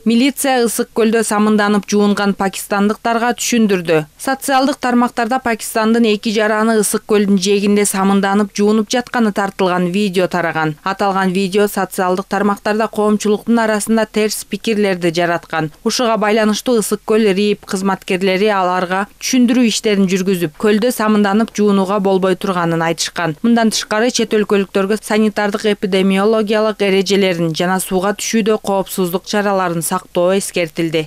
Милиция Ысык көлдө самынданып жуунган пакистандыктарга түшүндүрдү. Социалдык тармактарда Пакистандын эки жараны Ысык көлдүн жээгинде самынданып жуунуп жатканы тартылган видео тараган. Аталган видео социалдык тармактарда коомчулуктун арасында терс пикирлерди жараткан. Ушуга байланыштуу Ысык көл РИИБ кызматкерлери аларга түшүндүрүү иштерин жүргүзүп, көлдө самынданып жуунууга болбой турганын айтышкан. Мындан тышкары чет өлкөлүктөргө санитардык эпидемиологиялык эрежелерин жана сууга түшүүдө коопсуздук чараларын сактоо эскертилди.